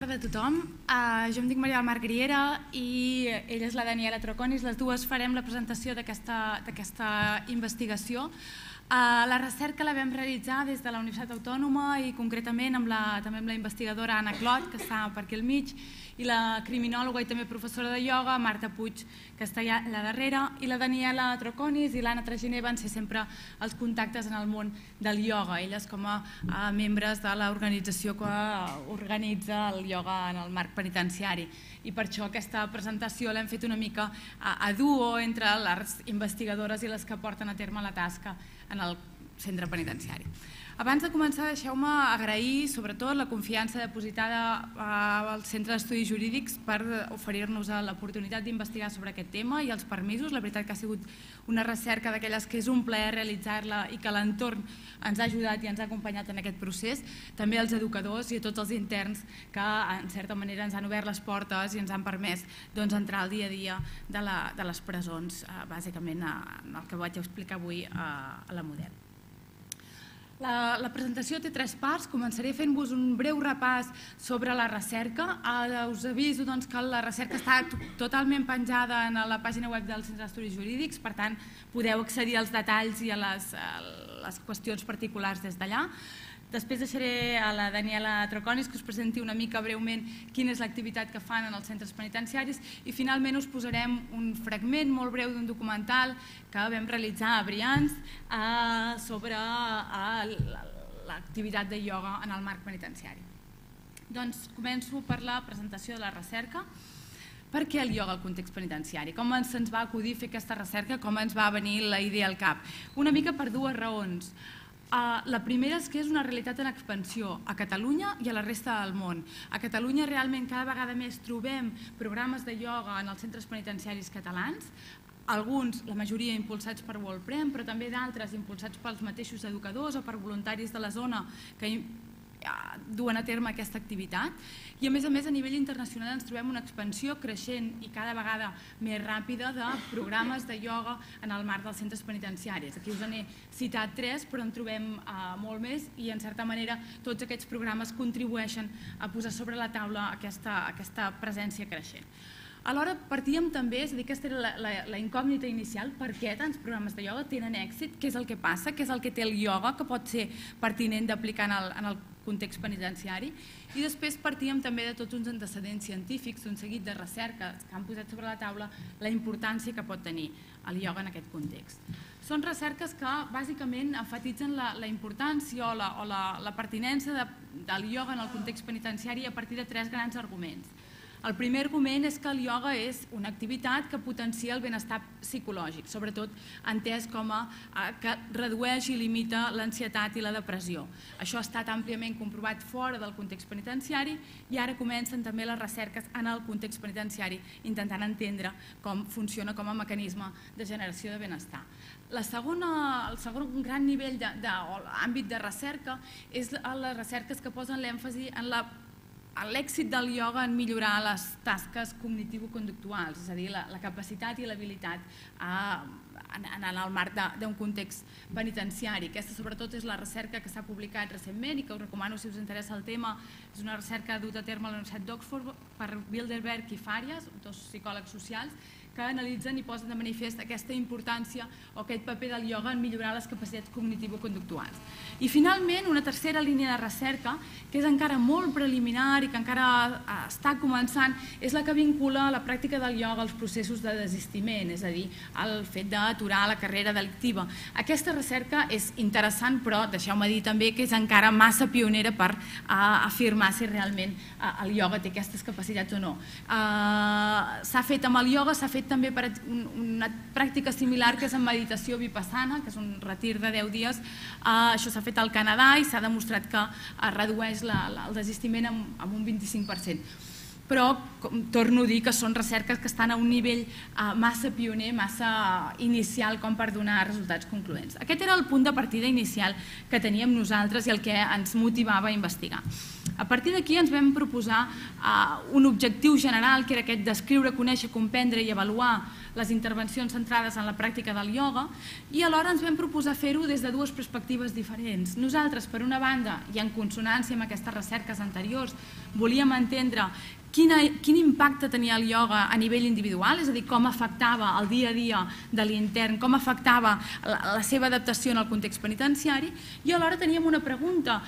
Bona tarda a tothom. Jo em dic Maria del Mar Griera i ella és la Daniela Troconis. Les dues farem la presentació d'aquesta investigació. La recerca la vam realitzar des de la Universitat Autònoma i concretament també amb la investigadora Anna Clot, que està per aquí al mig, i la criminòloga i també professora de ioga, Marta Puig, que està allà darrere, i la Daniela Troconis i l'Anna Traginer van ser sempre els contactes en el món del ioga, elles com a membres de l'organització que organitza el ioga en el marc penitenciari. I per això aquesta presentació l'hem fet una mica a duo entre les investigadores i les que porten a terme la tasca en el centre penitenciari. Abans de començar, deixeu-me agrair sobretot la confiança depositada al Centre d'Estudis Jurídics per oferir-nos l'oportunitat d'investigar sobre aquest tema i els permisos. La veritat que ha sigut una recerca d'aquelles que és un plaer realitzar-la i que l'entorn ens ha ajudat i ens ha acompanyat en aquest procés. També als educadors i a tots els interns que en certa manera ens han obert les portes i ens han permès entrar al dia a dia de les presons, bàsicament en el que vaig explicar avui a la Model. La presentació té 3 parts. Començaré fent-vos un breu repàs sobre la recerca. Us aviso que la recerca està totalment penjada en la pàgina web del Centre d'Estudis Jurídics, per tant podeu accedir als detalls i a les qüestions particulars des d'allà. Després deixaré a la Daniela Troconis que us presenti una mica breument quina és l'activitat que fan en els centres penitenciaris i finalment us posarem un fragment molt breu d'un documental que vam realitzar a Brians sobre l'activitat de ioga en el marc penitenciari. Doncs començo per la presentació de la recerca. Per què el ioga al context penitenciari? Com se'ns va acudir fer aquesta recerca? Com ens va venir la idea al cap? Una mica per 2 raons. La primera és que és una realitat en expansió a Catalunya i a la resta del món. A Catalunya realment cada vegada més trobem programes de ioga en els centres penitenciaris catalans, alguns, la majoria, impulsats per WorldPrem, però també d'altres impulsats pels mateixos educadors o per voluntaris de la zona que duen a terme aquesta activitat. I a més a nivell internacional ens trobem una expansió creixent i cada vegada més ràpida de programes de ioga en el marc dels centres penitenciaris. Aquí us n'he citat 3, però en trobem molt més i en certa manera tots aquests programes contribueixen a posar sobre la taula aquesta presència creixent. Alhora partíem també, és a dir, aquesta era la incògnita inicial, per què tants programes de ioga tenen èxit, què és el que passa, què és el que té el ioga que pot ser pertinent d'aplicar en el context penitenciari, i després partíem també de tots uns antecedents científics, un seguit de recerques que han posat sobre la taula la importància que pot tenir el ioga en aquest context. Són recerques que bàsicament enfatitzen la importància o la pertinença del ioga en el context penitenciari a partir de 3 grans arguments. El primer argument és que el ioga és una activitat que potencia el benestar psicològic, sobretot entès com que redueix i limita l'ansietat i la depressió. Això ha estat àmpliament comprovat fora del context penitenciari i ara comencen també les recerques en el context penitenciari, intentant entendre com funciona com a mecanisme de generació de benestar. El segon gran nivell d'àmbit de recerca és les recerques que posen l'èmfasi en l'èxit del ioga en millorar les tasques cognitivo-conductuals, és a dir, la capacitat i l'habilitat en el marc d'un context penitenciari. Aquesta sobretot és la recerca que s'ha publicat recentment i que us recomano si us interessa el tema. És una recerca duta a terme a la Universitat d'Oxford per Bilderberg i Farias, 2 psicòlegs socials, que analitzen i posen de manifest aquesta importància o aquest paper del ioga en millorar les capacitats cognitivo-conductuals. I finalment, una tercera línia de recerca, que és encara molt preliminar i que encara està començant, és la que vincula la pràctica del ioga als processos de desistiment, és a dir, al fet d'aturar la carrera delictiva. Aquesta recerca és interessant, però deixeu-me dir també que és encara massa pionera per afirmar si realment el ioga té aquestes capacitats o no. S'ha fet amb el ioga, s'ha fet també per una pràctica similar que és en meditació vipassana, que és un retir de 10 dies. Això s'ha fet al Canadà i s'ha demostrat que redueix el desistiment en un 25%. però torno a dir que són recerques que estan a un nivell massa pioner, massa inicial com per donar resultats concloents. Aquest era el punt de partida inicial que teníem nosaltres i el que ens motivava a investigar. A partir d'aquí ens vam proposar un objectiu general, que era aquest descriure, conèixer, comprendre i avaluar les intervencions centrades en la pràctica del ioga, i alhora ens vam proposar fer-ho des de dues perspectives diferents. Nosaltres, per una banda, i en consonància amb aquestes recerques anteriors, volíem entendre quin impacte tenia el ioga a nivell individual, és a dir, com afectava el dia a dia de l'intern, com afectava la seva adaptació en el context penitenciari, i alhora teníem una pregunta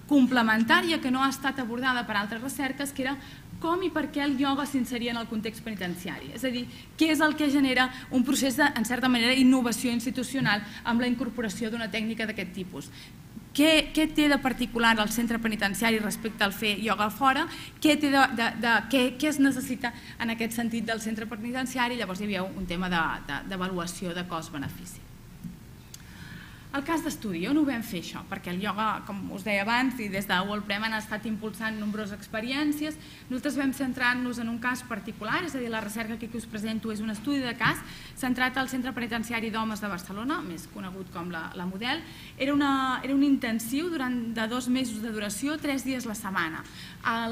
complementària que no ha estat abordada per altres recerques, que era com i per què el ioga s'inseria en el context penitenciari. És a dir, què és el que genera un procés de, en certa manera, innovació institucional amb la incorporació d'una tècnica d'aquest tipus. Què té de particular el centre penitenciari respecte al fer ioga fora? Què es necessita en aquest sentit del centre penitenciari? Llavors hi havia un tema d'avaluació de cost-benefici. El cas d'estudi, on ho vam fer això? Perquè el ioga, com us deia abans, i des de WorldPrem han estat impulsant nombroses experiències. Nosaltres vam centrar-nos en un cas particular, és a dir, la recerca que us presento és un estudi de cas centrat al Centre Penitenciari d'Homes de Barcelona, més conegut com la Model. Era un intensiu de 2 mesos de duració, 3 dies la setmana.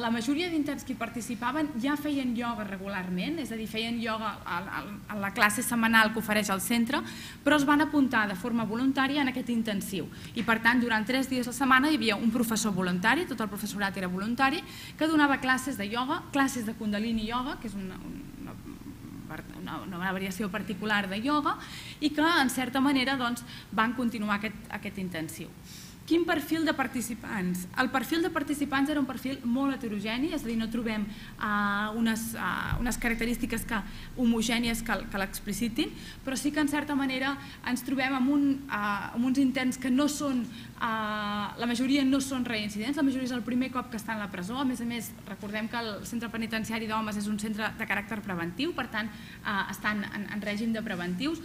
La majoria d'interns que hi participaven ja feien ioga regularment, és a dir, feien ioga a la classe setmanal que ofereix el centre, però es van apuntar de forma voluntària en aquest intensiu. I per tant, durant 3 dies a la setmana hi havia un professor voluntari, tot el professorat era voluntari, que donava classes de ioga, classes de Kundalini Yoga, que és una variació particular de ioga, i que, en certa manera, van continuar aquest intensiu. Quin perfil de participants? El perfil de participants era un perfil molt heterogeni, és a dir, no trobem unes característiques homogènies que l'explicitin, però sí que en certa manera ens trobem amb uns interns que no són, la majoria no són reincidents, la majoria és el primer cop que estan a la presó. A més, recordem que el centre penitenciari d'homes és un centre de caràcter preventiu, per tant, estan en règim de preventius.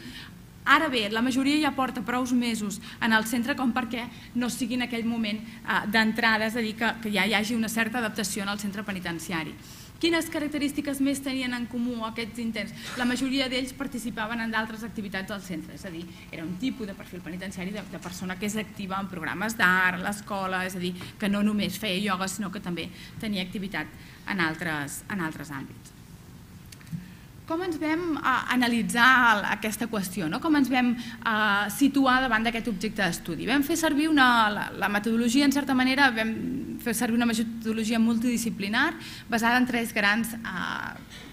Ara bé, la majoria ja porta prou mesos en el centre com perquè no sigui en aquell moment d'entrada, és a dir, que ja hi hagi una certa adaptació en el centre penitenciari. Quines característiques més tenien en comú aquests interns? La majoria d'ells participaven en d'altres activitats del centre, és a dir, era un tipus de perfil penitenciari de persona que és activa en programes d'art, a l'escola, és a dir, que no només feia ioga, sinó que també tenia activitat en altres àmbits. Com ens vam analitzar aquesta qüestió? Com ens vam situar davant d'aquest objecte d'estudi? Vam fer servir la metodologia, en certa manera, vam fer servir una metodologia multidisciplinar basada en 3 grans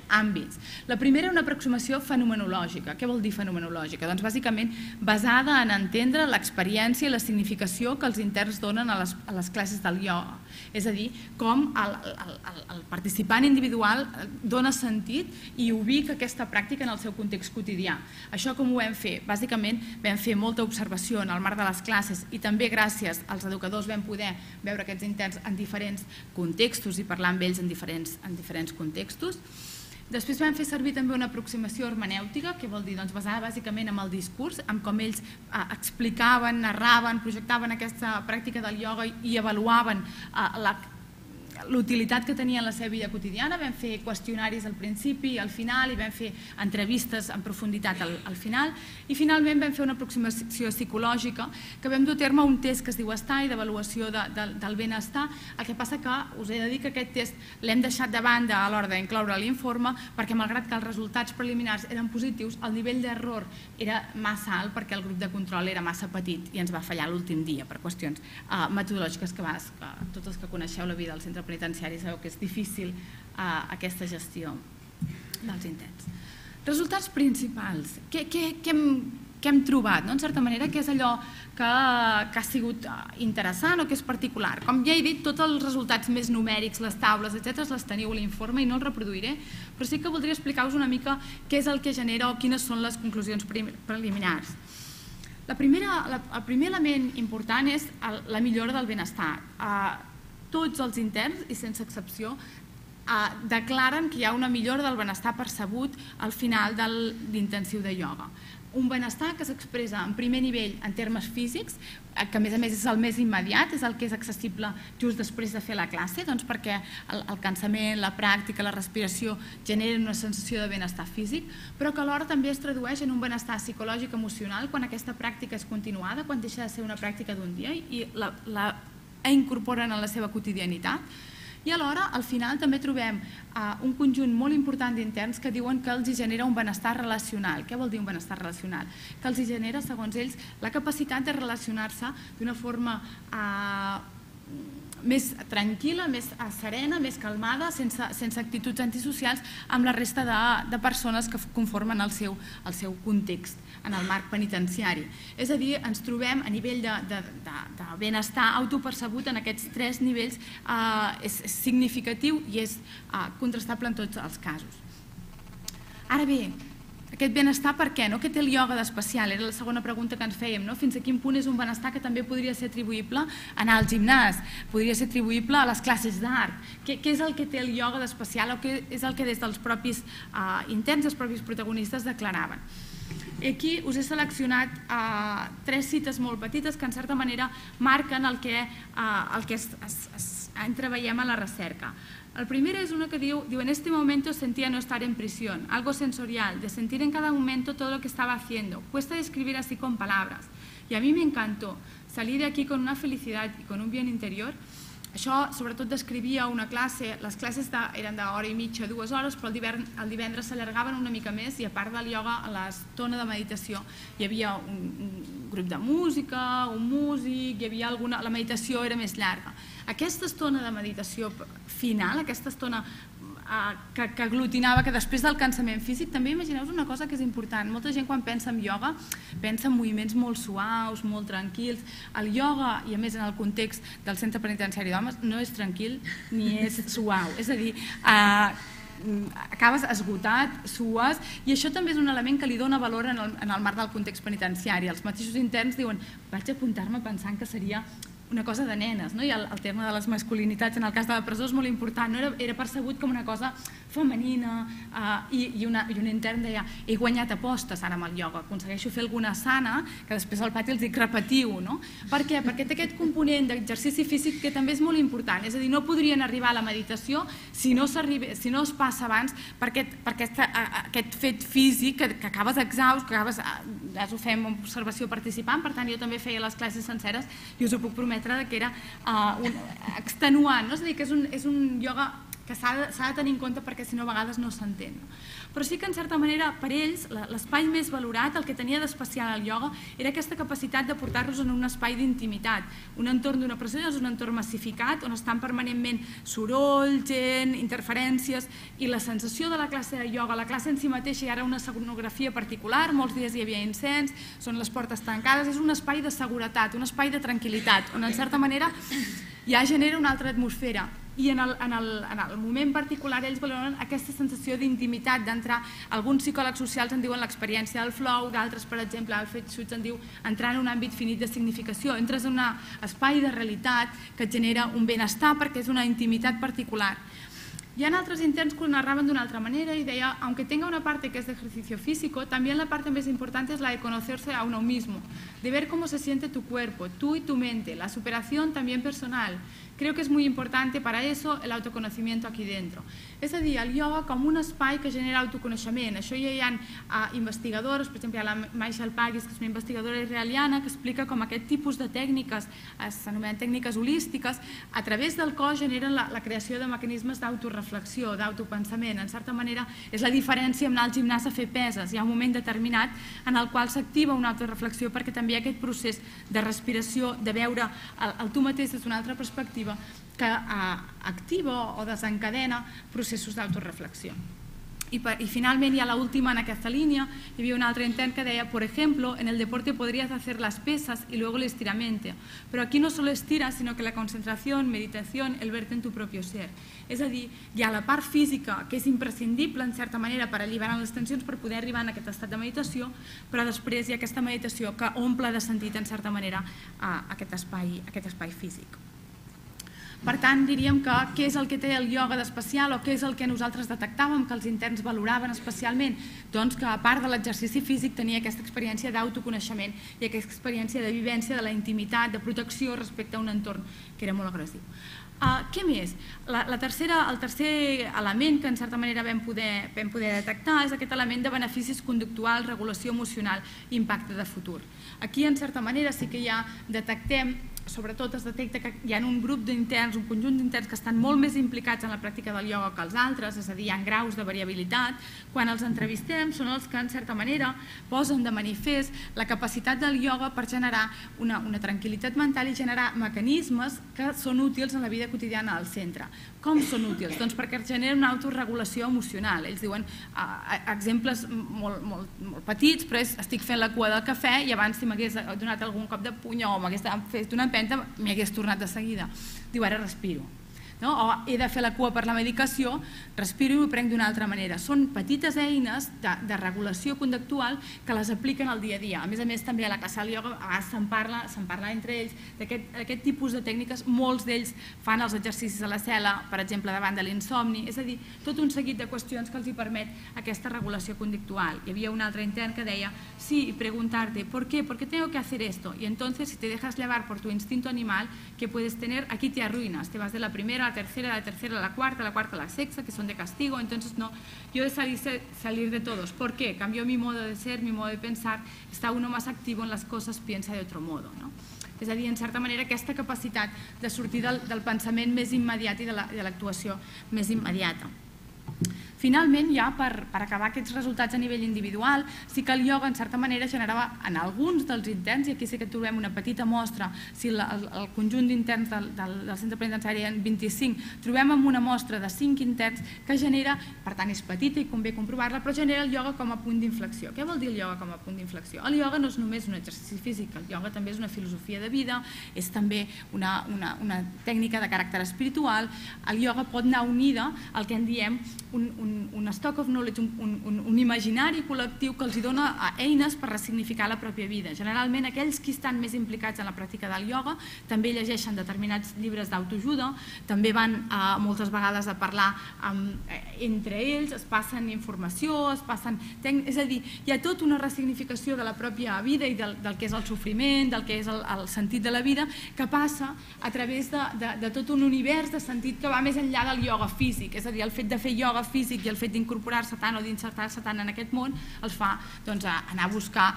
àmbits. La primera, una aproximació fenomenològica. Què vol dir fenomenològica? Doncs bàsicament basada en entendre l'experiència i la significació que els interns donen a les classes del ioga. És a dir, com el participant individual dona sentit i ubica aquesta pràctica en el seu context quotidià. Això com ho vam fer? Bàsicament vam fer molta observació en el marc de les classes i també gràcies als educadors vam poder veure aquests interns en diferents contextos i parlar amb ells en diferents contextos. Després vam fer servir també una aproximació hermenèutica, que vol dir basada bàsicament en el discurs, en com ells explicaven, narraven, projectaven aquesta pràctica del ioga i avaluaven l'utilitat que tenia en la seva vida quotidiana. Vam fer qüestionaris al principi i al final i vam fer entrevistes en profunditat al final i finalment vam fer una aproximació psicològica que vam dur a terme un test que es diu STAI d'avaluació del benestar. El que passa que us he de dir que aquest test l'hem deixat de banda a l'hora d'incloure a l'informe perquè malgrat que els resultats preliminars eren positius, el nivell d'error era massa alt perquè el grup de control era massa petit i ens va fallar l'últim dia per qüestions metodològiques que tots els que coneixeu la vida del centre penitenciari sabeu que és difícil aquesta gestió dels intents. Resultats principals. Què hem trobat? En certa manera, què és allò que ha sigut interessant o que és particular? Com ja he dit, tots els resultats més numèrics, les taules, etc., les teniu a l'informe i no els reproduiré, però sí que voldria explicar-vos una mica què és el que genera o quines són les conclusions preliminars. El primer element important és la millora del benestar. Tots els interns, i sense excepció, declaren que hi ha una millora del benestar percebut al final de l'intensiu de ioga. Un benestar que s'expressa en primer nivell en termes físics, que a més és el més immediat, és el que és accessible just després de fer la classe, doncs perquè el cansament, la pràctica, la respiració generen una sensació de benestar físic, però que alhora també es tradueix en un benestar psicològic emocional quan aquesta pràctica és continuada, quan deixa de ser una pràctica d'un dia i la incorporen en la seva quotidianitat. I alhora, al final, també trobem un conjunt molt important d'interns que diuen que els genera un benestar relacional. Què vol dir un benestar relacional? Que els genera, segons ells, la capacitat de relacionar-se d'una forma més tranquil·la, més serena, més calmada, sense actituds antisocials amb la resta de persones que conformen el seu context en el marc penitenciari. És a dir, ens trobem a nivell de benestar autopercebut en aquests 3 nivells, és significatiu i és contrastable en tots els casos. Ara bé, aquest benestar per què? Què té el ioga d'especial? Era la segona pregunta que ens fèiem. Fins a quin punt és un benestar que també podria ser atribuïble a anar al gimnàs, podria ser atribuïble a les classes d'art? Què és el que té el ioga d'especial o què és el que des dels propis interns, els propis protagonistes declaraven? Aquí us he seleccionat 3 cites molt petites que en certa manera marquen el que entreveiem a la recerca. El primer es una que diu, en este momento sentía no estar en prisión, algo sensorial, de sentir en cada momento todo lo que estaba haciendo. Cuesta describir así con palabras. Y a mí me encantó. Salí de aquí con una felicidad y con un bien interior. Això sobretot descrivia una classe, les classes eren d'hora i mitja, 2 hores, però el divendres s'allargaven una mica més i a part del ioga, a l'estona de meditació hi havia un grup de música, un músic, la meditació era més llarga. Aquesta estona de meditació final, aquesta estona que aglutinava, que després del cansament físic, també imagineu-vos una cosa que és important. Molta gent quan pensa en ioga pensa en moviments molt suaus, molt tranquils. El ioga, i a més en el context del centre penitenciari d'homes, no és tranquil ni és suau. És a dir, acabes esgotat, sues, i això també és un element que li dona valor en el marc del context penitenciari. Els mateixos interns diuen, vaig apuntar-me pensant que seria una cosa de nenes, i el terme de les masculinitats en el cas de la presó és molt important, era percebut com una cosa femenina i un intern deia, he guanyat apostes ara amb el ioga, aconsegueixo fer alguna asana que després al pati els dic repetiu. Per què? Perquè té aquest component d'exercici físic que també és molt important, és a dir, no podrien arribar a la meditació si no es passa abans per aquest fet físic que acabes exhaust, que acabes, ja ho fem amb observació participant, per tant jo també feia les classes senceres i us ho puc prometre que era extenuant, és a dir, que és un ioga que s'ha de tenir en compte perquè si no a vegades no s'entén. Però sí que en certa manera per ells l'espai més valorat, el que tenia d'especial el ioga, era aquesta capacitat de portar-los en un espai d'intimitat. Un entorn d'una presó és un entorn massificat on estan permanentment soroll, gent, interferències, i la sensació de la classe de ioga, la classe en si mateixa hi ha una escenografia particular, molts dies hi havia incens, són les portes tancades, és un espai de seguretat, un espai de tranquil·litat, on en certa manera ja genera una altra atmosfera. I en el moment particular ells valoren aquesta sensació d'intimitat, d'entrar, alguns psicòlegs socials en diuen l'experiència del flow, d'altres, per exemple, Alfred Schutz en diu entrar en un àmbit finit de significació, entres en un espai de realitat que et genera un benestar perquè és una intimitat particular. Hi ha altres interns que ho narraven d'una altra manera y deia, aunque tenga una parte que es de ejercicio físico, también la parte más importante es la de conocerse a uno mismo, de ver cómo se siente tu cuerpo, tú y tu mente, la superación también personal. Creo que es muy importante para eso el autoconocimiento aquí dentro. És a dir, el ioga com un espai que genera autoconeixement. Això ja hi ha investigadors, per exemple, hi ha la Maisha Alpagis, que és una investigadora israeliana, que explica com aquest tipus de tècniques, s'anomenen tècniques holístiques, a través del cos generen la creació de mecanismes d'autoreflexió, d'autopensament. En certa manera, és la diferència amb anar al gimnàs a fer peses. Hi ha un moment determinat en el qual s'activa una autoreflexió perquè també hi ha aquest procés de respiració, de veure el tu mateix des d'una altra perspectiva, que activa o desencadena processos d'autoreflexió. Y finalmente, ya la última en esta línea, y había un otro intern que decía, por ejemplo, en el deporte podrías hacer las pesas y luego el estiramiento, pero aquí no solo estiras, sino que la concentración, meditación, el verte en tu propio ser. És a dir, hi ha la part física, que és imprescindible, en certa manera, per alliberar les tensions, per poder arribar a aquest estat de meditació, però després hi ha aquesta meditació que omple de sentit, en certa manera, aquest espai físic. Per tant, diríem que què és el que té el ioga d'especial o què és el que nosaltres detectàvem que els interns valoraven especialment? Doncs que a part de l'exercici físic tenia aquesta experiència d'autoconeixement i aquesta experiència de vivència de la intimitat, de protecció respecte a un entorn que era molt agressiu. Què més? El tercer element que en certa manera vam poder detectar és aquest element de beneficis conductuals, regulació emocional i impacte de futur. Aquí en certa manera sí que ja detectem, sobretot es detecta que hi ha un grup d'interns, un conjunt d'interns que estan molt més implicats en la pràctica del ioga que els altres, és a dir, hi ha graus de variabilitat. Quan els entrevistem són els que en certa manera posen de manifest la capacitat del ioga per generar una tranquil·litat mental i generar mecanismes que són útils en la vida quotidiana al centre. Com són útils? Doncs perquè generen una autorregulació emocional. Ells diuen exemples molt petits, però és estic fent la cua del cafè i abans si m'hagués donat algun cop de puny o m'hagués fet una empenta m'hi hagués tornat de seguida. Diu, ara respiro. O he de fer la cua per la medicació, respiro i m'ho prenc d'una altra manera. Són petites eines de regulació conductual que les apliquen al dia a dia. A més, també a la classe del ioga a vegades se'n parla entre ells d'aquest tipus de tècniques. Molts d'ells fan els exercicis a la cel·la, per exemple, davant de l'insomni. És a dir, tot un seguit de qüestions que els permet aquesta regulació conductual. Hi havia un altre intern que deia, sí, preguntarte, ¿por qué? ¿Por qué tengo que hacer esto? Y entonces, si te dejas llevar por tu instinto animal que puedes tener, aquí te arruinas. Te vas de la primera la tercera a la cuarta a la sexta, que son de castigo. Entonces, no, yo he salir de todos. ¿Por qué? Cambió mi modo de ser, mi modo de pensar. Está uno más activo en las cosas, piensa de otro modo. És a dir, en certa manera, aquesta capacitat de sortir del pensament més immediat i de l'actuació més immediata. Finalment, ja per acabar aquests resultats a nivell individual, sí que el ioga en certa manera generava en alguns dels interns, i aquí sí que trobem una petita mostra, si el conjunt d'interns del centre penitenciari en 25, trobem amb una mostra de 5 interns que genera, per tant és petita i convé comprovar-la, però genera el ioga com a punt d'inflexió. Què vol dir el ioga com a punt d'inflexió? El ioga no és només un exercici físic, el ioga també és una filosofia de vida, és també una tècnica de caràcter espiritual. El ioga pot anar unida al que en diem un stock of knowledge, un imaginari col·lectiu que els dona eines per ressignificar la pròpia vida. Generalment, aquells que estan més implicats en la pràctica del ioga també llegeixen determinats llibres d'autoajuda, també van moltes vegades a parlar entre ells, es passen informació, és a dir, hi ha tota una ressignificació de la pròpia vida i del que és el sofriment, del que és el sentit de la vida, que passa a través de tot un univers de sentit que va més enllà del ioga físic. És a dir, el fet de fer ioga físic i el fet d'incorporar-se tant o d'insertar-se tant en aquest món els fa anar a buscar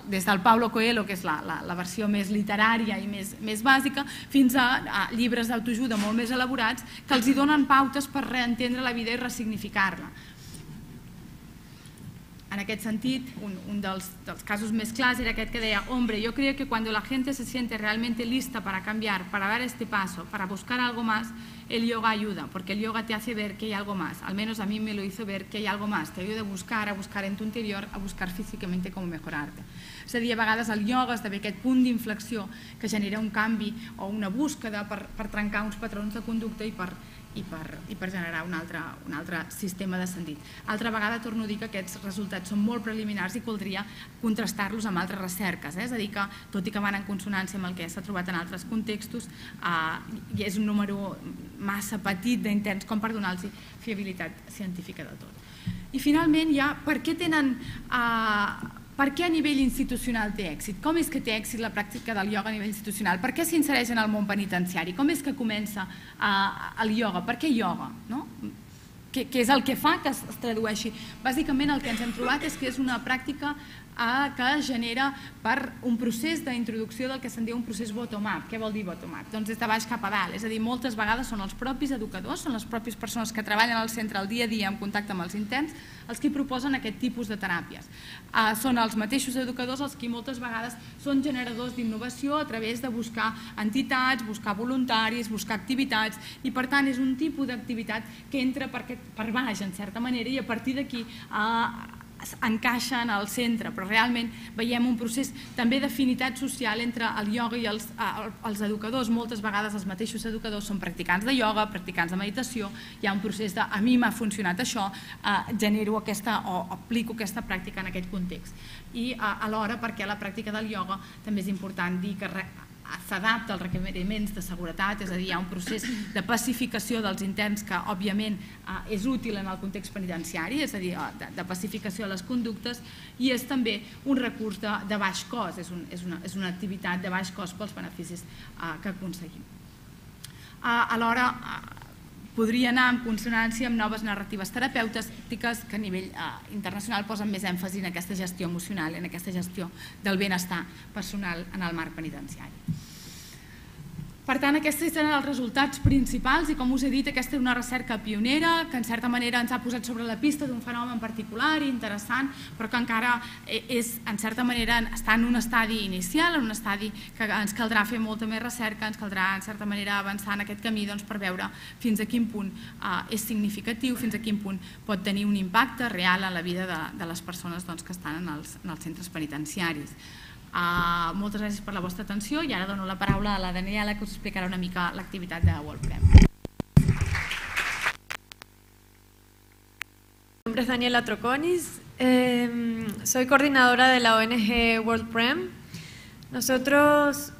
des del Paulo Coelho, que és la versió més literària i més bàsica, fins a llibres d'autoajuda molt més elaborats que els donen pautes per reentendre la vida i ressignificar-la. En aquest sentit, un dels casos més clars era aquest que deia: hombre, yo creo que cuando la gente se siente realmente lista para cambiar, para dar este paso, para buscar algo más, el yoga ayuda, porque el yoga te hace ver que hay algo más. Al menos a mí me lo hizo ver que hay algo más. Te ayuda a buscar en tu interior, a buscar físicamente cómo mejorarte. És a dir, a vegades el yoga esdevé aquest punt d'inflexió que genera un canvi o una búsqueda per trencar uns patrons de conducta i per generar un altre sistema de sentit. Altra vegada torno a dir que aquests resultats són molt preliminars i caldria contrastar-los amb altres recerques. És a dir, que tot i que van en consonància amb el que s'ha trobat en altres contextos, i és un número massa petit d'interns com per donar-los fiabilitat científica de tot. I finalment, ja, per què a nivell institucional té èxit? Com és que té èxit la pràctica del ioga a nivell institucional? Per què s'insereix en el món penitenciari? Com és que comença el ioga? Per què ioga? Què és el que fa que es tradueixi? Bàsicament el que ens hem trobat és que és una pràctica que genera per un procés d'introducció del que se'n diu un procés bottom-up. Què vol dir bottom-up? Doncs des de baix cap a dalt, és a dir, moltes vegades són els propis educadors, són les pròpies persones que treballen al centre el dia a dia en contacte amb els interns, els que proposen aquest tipus de teràpies. Són els mateixos educadors els que moltes vegades són generadors d'innovació a través de buscar entitats, buscar voluntaris, buscar activitats, i per tant és un tipus d'activitat que entra per baix en certa manera i a partir d'aquí encaixen al centre, però realment veiem un procés també d'afinitat social entre el ioga i els educadors. Moltes vegades els mateixos educadors són practicants de ioga, practicants de meditació, hi ha un procés de a mi m'ha funcionat això, genero aquesta o aplico aquesta pràctica en aquest context. I alhora perquè la pràctica del ioga també és important dir que s'adapta als requeriments de seguretat, és a dir, hi ha un procés de pacificació dels interns que, òbviament, és útil en el context penitenciari, és a dir, de pacificació de les conductes, i és també un recurs de baix cost, és una activitat de baix cost pels beneficis que aconseguim. Alhora, podria anar en consonància amb noves narratives terapèutiques que a nivell internacional posen més èmfasi en aquesta gestió emocional, en aquesta gestió del benestar personal en el marc penitenciari. Per tant, aquests eren els resultats principals i, com us he dit, aquesta és una recerca pionera que en certa manera ens ha posat sobre la pista d'un fenomen particular i interessant, però que encara en certa manera està en un estadi inicial, en un estadi que ens caldrà fer molta més recerca, ens caldrà en certa manera avançar en aquest camí per veure fins a quin punt és significatiu, fins a quin punt pot tenir un impacte real en la vida de les persones que estan en els centres penitenciaris. Moltes gràcies per la vostra atenció i ara dono la paraula a la Daniela, que us explicarà una mica l'activitat de WorldPrem. Mi nombre es Daniela Troconis, soy coordinadora de la ONG WorldPrem. Nosotros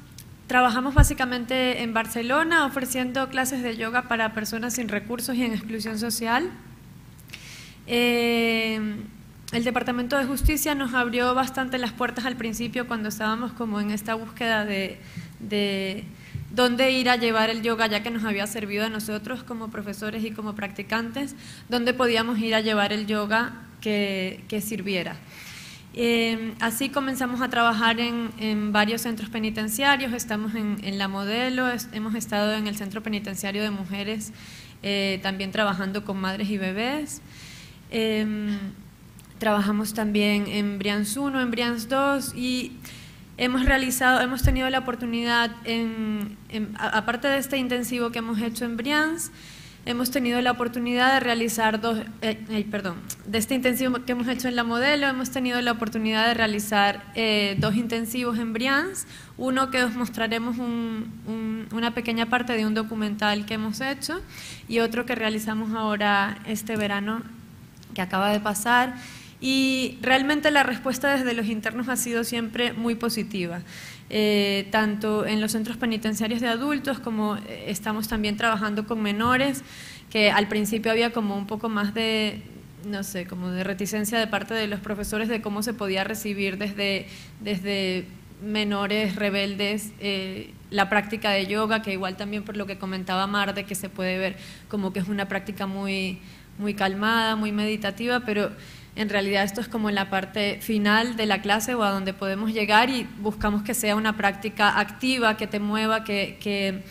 trabajamos básicamente en Barcelona ofreciendo clases de yoga para personas sin recursos y en exclusión social. El Departamento de Justicia nos abrió bastante las puertas al principio cuando estábamos como en esta búsqueda de dónde ir a llevar el yoga, ya que nos había servido a nosotros como profesores y como practicantes, dónde podíamos ir a llevar el yoga que sirviera. Así comenzamos a trabajar en varios centros penitenciarios, estamos en La Modelo, hemos estado en el Centro Penitenciario de Mujeres, también trabajando con madres y bebés. Trabajamos también en Brians 1, en Brians 2 y hemos tenido la oportunidad, aparte de este intensivo que hemos hecho en Brians, hemos tenido la oportunidad de realizar de este intensivo que hemos hecho en La Modelo, hemos tenido la oportunidad de realizar 2 intensivos en Brians, uno que os mostraremos una pequeña parte de un documental que hemos hecho y otro que realizamos ahora este verano que acaba de pasar. Y realmente la respuesta desde los internos ha sido siempre muy positiva, tanto en los centros penitenciarios de adultos como estamos también trabajando con menores, que al principio había como un poco más de, no sé, como de reticencia de parte de los profesores de cómo se podía recibir desde menores rebeldes la práctica de yoga, que igual también por lo que comentaba Mar, de que se puede ver como que es una práctica muy calmada, muy meditativa, pero en realidad esto es como la parte final de la clase o a donde podemos llegar y buscamos que sea una práctica activa, que te mueva, que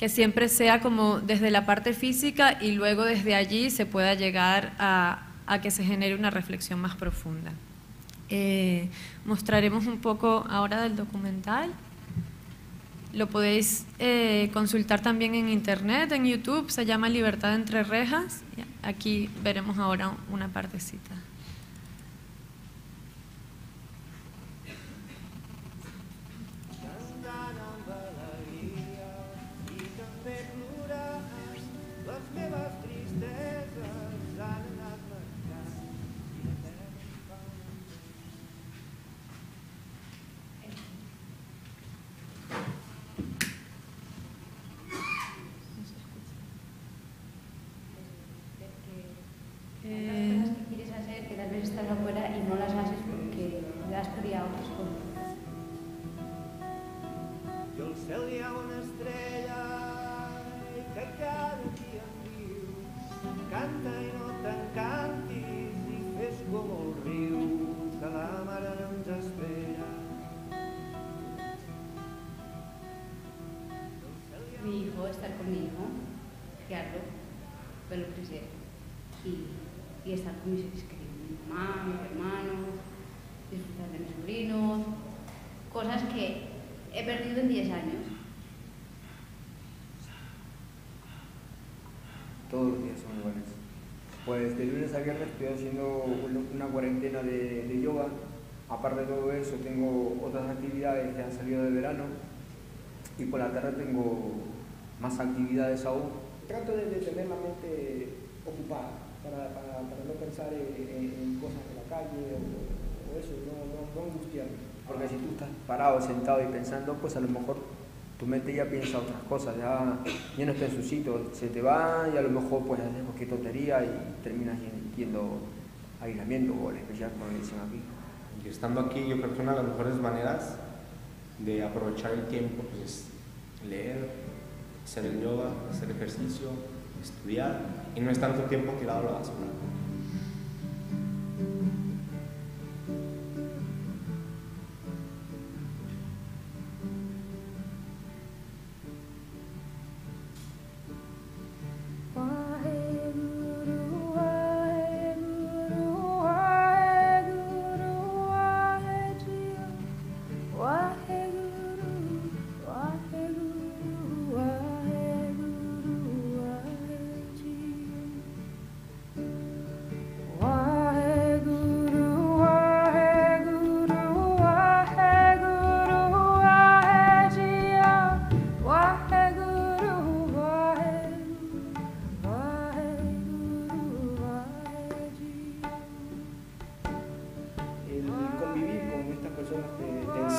siempre sea como desde la parte física y luego desde allí se pueda llegar a que se genere una reflexión más profunda. Mostraremos un poco ahora del documental. Lo podéis consultar también en internet, en YouTube, se llama Libertad entre rejas. Aquí veremos ahora una partecita. Mi hijo estar con mi hijo, criarlo, verlo crecer y estar con mis seres queridos, mi mamá, mis hermanos, disfrutar de mis sobrinos, cosas que he perdido en 10 años. Todos los días son iguales. Pues de lunes a viernes estoy haciendo una cuarentena de yoga. Aparte de todo eso, tengo otras actividades que han salido de verano y por la tarde tengo más actividades aún. Trato de tener la mente ocupada para no pensar en cosas de la calle o eso, no angustiarme. Porque si tú estás parado, sentado y pensando, pues a lo mejor tu mente ya piensa otras cosas, ya no está en su sitio, se te va y a lo mejor pues haces cualquier tontería y terminas yendo a aislamiento o al especial, como dicen aquí. Y estando aquí, yo creo que una de las mejores maneras de aprovechar el tiempo pues, es leer, hacer el yoga, hacer ejercicio, estudiar, y no es tanto tiempo tirado a la basura.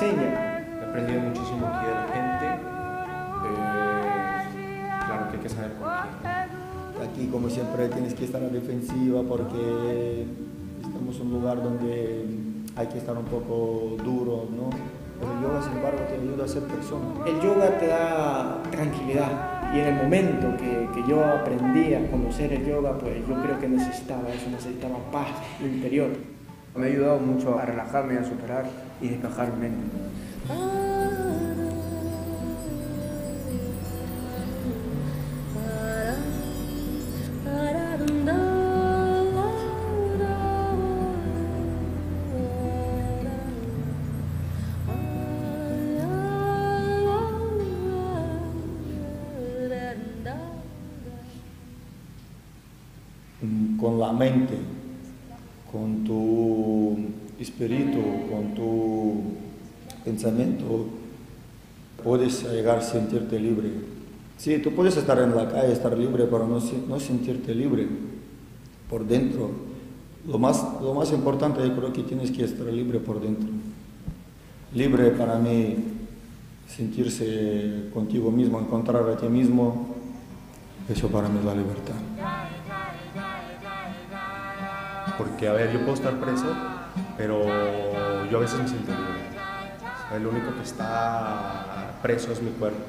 He aprendido muchísimo aquí de la gente. Claro que hay que saber con quién. Aquí, como siempre, tienes que estar a la defensiva porque estamos en un lugar donde hay que estar un poco duro, ¿no? Pero el yoga, sin embargo, te ayuda a ser persona. El yoga te da tranquilidad y en el momento que yo aprendí a conocer el yoga, pues yo creo que necesitaba eso, necesitaba paz interior. Me ha ayudado mucho a relajarme, a superar y despejar mi mente. Con la mente, con tu espíritu, con tu pensamiento, puedes llegar a sentirte libre. Sí, tú puedes estar en la calle, estar libre, pero no sentirte libre por dentro. Lo más importante, yo creo que tienes que estar libre por dentro. Libre para mí, sentirse contigo mismo, encontrar a ti mismo, eso para mí es la libertad. Porque, a ver, yo puedo estar preso, pero yo a veces me siento libre. O sea, el único que está preso es mi cuerpo.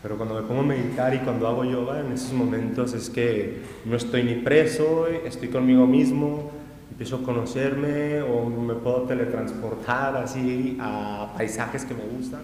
Pero cuando me pongo a meditar y cuando hago yoga, en esos momentos es que no estoy ni preso, estoy conmigo mismo, empiezo a conocerme o me puedo teletransportar así a paisajes que me gustan.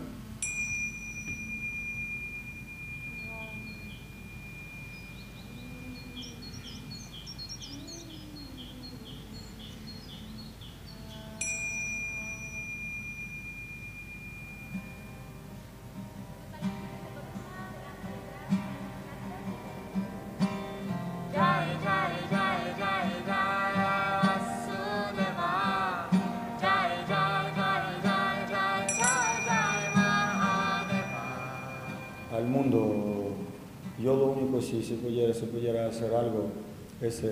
Al mundo, yo lo único si pudiera hacer algo es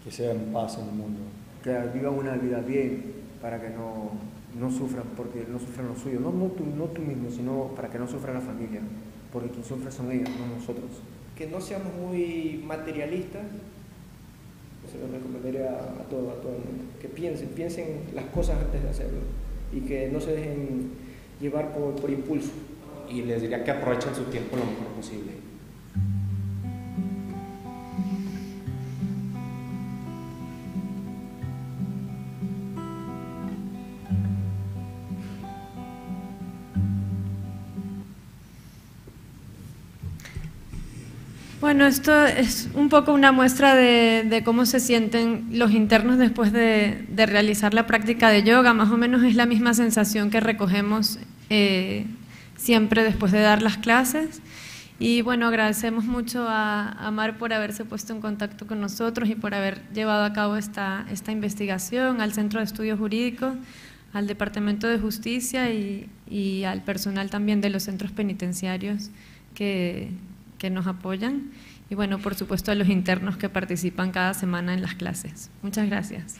que sea en paz en el mundo. Que vivan una vida bien para que no sufran, porque no sufran los suyos, no tú mismo, sino para que no sufra la familia, porque quien sufre son ellos, no nosotros. Que no seamos muy materialistas, se lo recomendaría a todo el mundo, que piensen las cosas antes de hacerlo y que no se dejen llevar por impulso. Y les diría que aprovechen su tiempo lo mejor posible. Bueno, esto es un poco una muestra de cómo se sienten los internos después de realizar la práctica de yoga. Más o menos es la misma sensación que recogemos siempre después de dar las clases. Y bueno, agradecemos mucho a Mar por haberse puesto en contacto con nosotros y por haber llevado a cabo esta investigación, al Centro de Estudios Jurídicos, al Departamento de Justicia y al personal también de los centros penitenciarios que nos apoyan. Y bueno, por supuesto a los internos que participan cada semana en las clases. Muchas gracias.